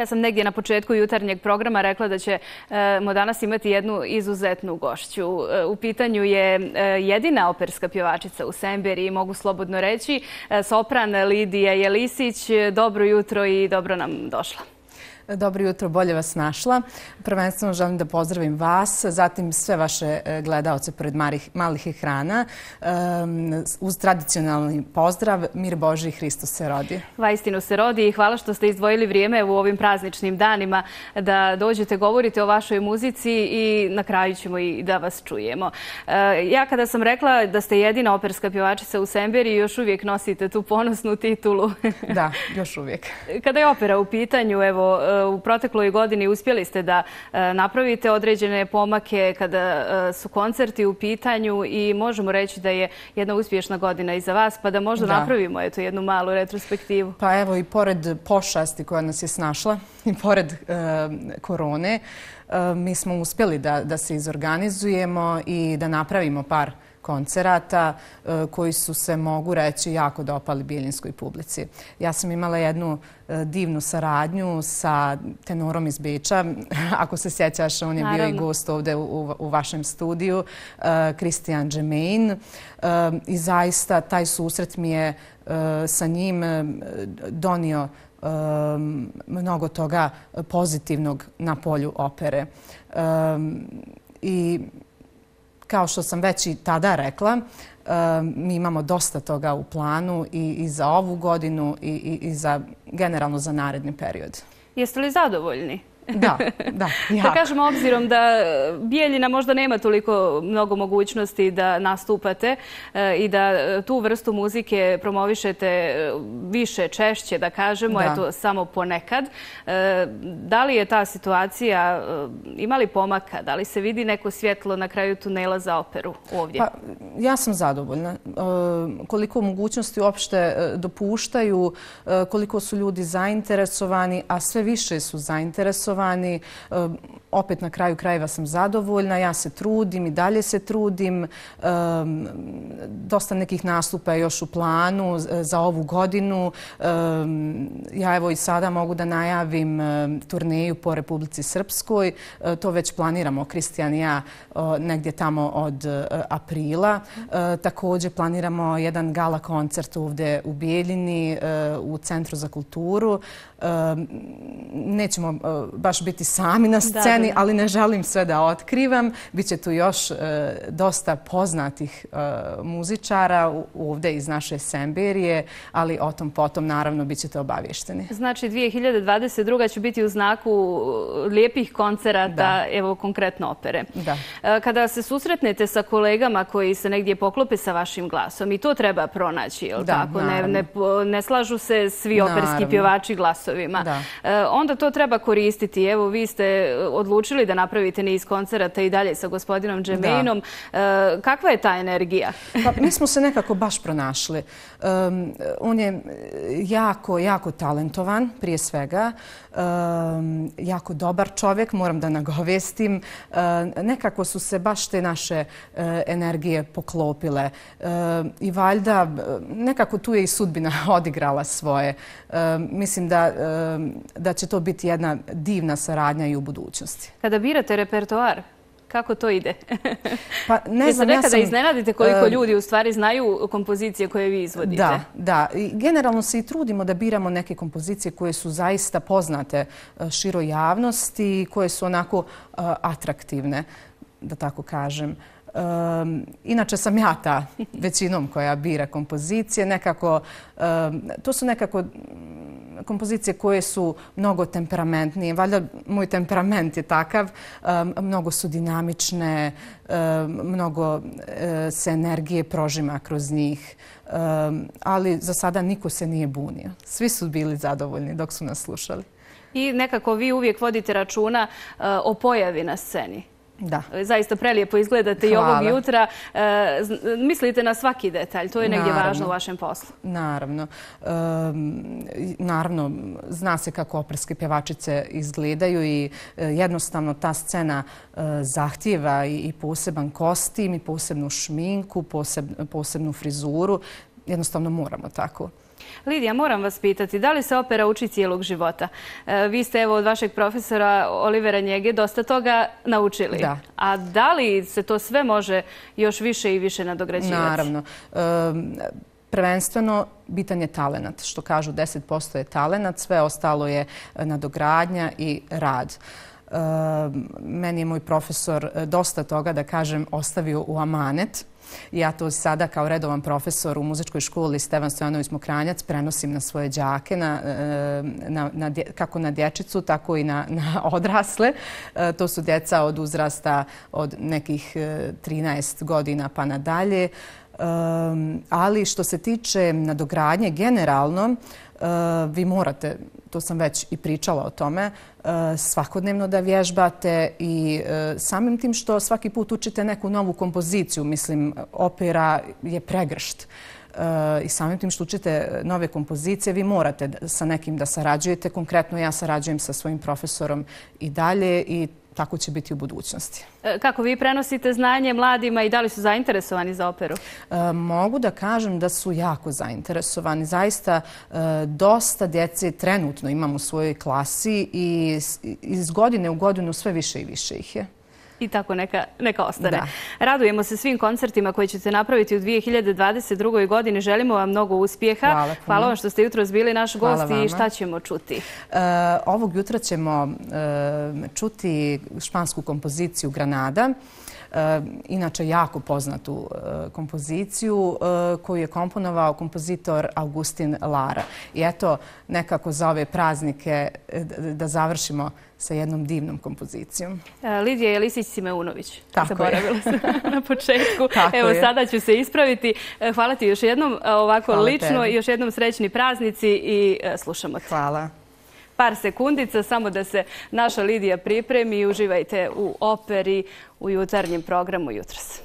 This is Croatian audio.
Ja sam negdje na početku jutarnjeg programa rekla da ćemo danas imati jednu izuzetnu gošću. U pitanju je jedina operska pjevačica u Semberiji, mogu slobodno reći, sopran Lidija Jelisić. Dobro jutro i dobro nam došla. Dobro jutro, bolje vas našla. Prvenstveno želim da pozdravim vas, zatim sve vaše gledaoce pored malih ekrana. Uz tradicionalni pozdrav, mir Božji, Hristos se rodi. Vaistinu se rodi i hvala što ste izdvojili vrijeme u ovim prazničnim danima da dođete, govorite o vašoj muzici i na kraju ćemo i da vas čujemo. Ja kada sam rekla da ste jedina operska pjevačica u Semberiji, još uvijek nosite tu ponosnu titulu. Da, još uvijek. Kada je opera u pitanju, evo, u protekloj godini uspjeli ste da napravite određene pomake kada su koncerti u pitanju i možemo reći da je jedna uspješna godina i za vas, pa da možda napravimo jednu malu retrospektivu. Pa evo, i pored pošasti koja nas je snašla i pored korone, mi smo uspjeli da se izorganizujemo i da napravimo par koncerata koji su se, mogu reći, jako dopali bijeljinskoj publici. Ja sam imala jednu divnu saradnju sa tenorom iz Beča. Ako se sjećaš, on je bio i gost ovdje u vašem studiju, Christian Germain. I zaista taj susret mi je sa njim donio mnogo toga pozitivnog na polju opere. I kao što sam već i tada rekla, mi imamo dosta toga u planu i za ovu godinu i generalno za naredni period. Jeste li zadovoljni? Da, jako. Da kažemo, obzirom da Bijeljina možda nema toliko mnogo mogućnosti da nastupate i da tu vrstu muzike promovišete više, češće, da kažemo, eto, samo ponekad. Da li je ta situacija, ima li pomaka? Da li se vidi neko svjetlo na kraju tunela za operu ovdje? Pa, ja sam zadovoljna. Koliko mogućnosti uopšte dopuštaju, koliko su ljudi zainteresovani, a sve više su zainteresovani. Opet na kraju krajeva sam zadovoljna, ja se trudim i dalje se trudim. Dosta nekih nastupa je još u planu za ovu godinu. Ja evo i sada mogu da najavim turneju po Republici Srpskoj. To već planiramo, Kristijan i ja, negdje tamo od aprila. Također planiramo jedan gala koncert ovdje u Bijeljini, u Centru za kulturu. Nećemo baš biti sami na sceni, ali ne želim sve da otkrivam. Biće tu još dosta poznatih muzičara ovdje iz naše Semberije, ali o tom potom naravno bit ćete obavješteni. Znači 2022. će biti u znaku lijepih koncerata, evo konkretno opere. Da. Kada se susretnete sa kolegama koji se negdje poklope sa vašim glasom, i to treba pronaći, jel tako? Ne slažu se svi operski pjevači glasovima. Onda to treba koristiti. Evo, vi ste odlučili da napravite niz koncerata i dalje sa gospodinom Germainom. Kakva je ta energija? Pa, mi smo se nekako baš pronašli. On je jako, jako talentovan, prije svega. Jako dobar čovjek, moram da nagovestim. Nekako su se baš te naše energije poklopile. I valjda, nekako tu je i sudbina odigrala svoje. Mislim da će to biti jedna divna saradnja i u budućnosti. Kada birate repertoar, kako to ide? Pa ne znam, nekada iznenadite koliko ljudi u stvari znaju kompozicije koje vi izvodite. Da. Generalno se i trudimo da biramo neke kompozicije koje su zaista poznate široj javnosti i koje su onako atraktivne, da tako kažem. Inače sam ja ta većinom koja bira kompozicije. Nekako, to su nekako kompozicije koje su mnogo temperamentnije. Valjda moj temperament je takav. Mnogo su dinamične, mnogo se energije prožima kroz njih. Ali za sada niko se nije bunio. Svi su bili zadovoljni dok su nas slušali. I nekako vi uvijek vodite računa o pojavi na sceni. Da. Zaista prelijepo izgledate i ovog jutra. Mislite na svaki detalj, to je negdje važno u vašem poslu. Naravno. Naravno, zna se kako operske pjevačice izgledaju i jednostavno ta scena zahtijeva i poseban kostim, i posebnu šminku, posebnu frizuru. Jednostavno moramo tako. Lidija, moram vas pitati, da li se opera uči cijelog života? Vi ste evo od vašeg profesora Olivera Njege dosta toga naučili. Da. A da li se to sve može još više i više nadograđivati? Naravno. Prvenstveno, bitan je talenat. Što kažu, 10% je talenat, sve ostalo je nadogradnja i rad. Meni je moj profesor dosta toga, da kažem, ostavio u amanet. Ja to sada kao redovan profesor u muzičkoj školi Stevan Stojanović Mokranjac prenosim na svoje đake, kako na dječicu, tako i na odrasle. To su djeca od uzrasta od nekih 13 godina pa nadalje. Ali što se tiče nadogradnje generalno, vi morate, to sam već i pričala o tome, svakodnevno da vježbate i samim tim što svaki put učite neku novu kompoziciju, mislim, opera je pregršt. I samim tim što učite nove kompozicije, vi morate sa nekim da sarađujete. Konkretno ja sarađujem sa svojim profesorom i dalje i tako će biti u budućnosti. Kako vi prenosite znanje mladima i da li su zainteresovani za operu? Mogu da kažem da su jako zainteresovani. Zaista dosta djece trenutno imam u svojoj klasi i iz godine u godinu sve više i više ih je. I tako neka ostane. Da. Radujemo se svim koncertima koje ćete napraviti u 2022. godini. Želimo vam mnogo uspjeha. Hvala vam što ste jutros bili naš gost i šta ćemo čuti? Ovog jutra ćemo čuti špansku kompoziciju Granada. Inače jako poznatu kompoziciju koju je komponovao kompozitor Agustin Lara. I eto, nekako za ove praznike da završimo sa jednom divnom kompozicijom. Lidija Jelisić-Simeunović. Tako je. Zaboravila sam na početku. Evo, sada ću se ispraviti. Hvala ti još jednom ovako lično i još jednom srećni praznici i slušamo te. Hvala. Par sekundica, samo da se naša Lidija pripremi i uživajte u operi u jutarnjem programu jutros.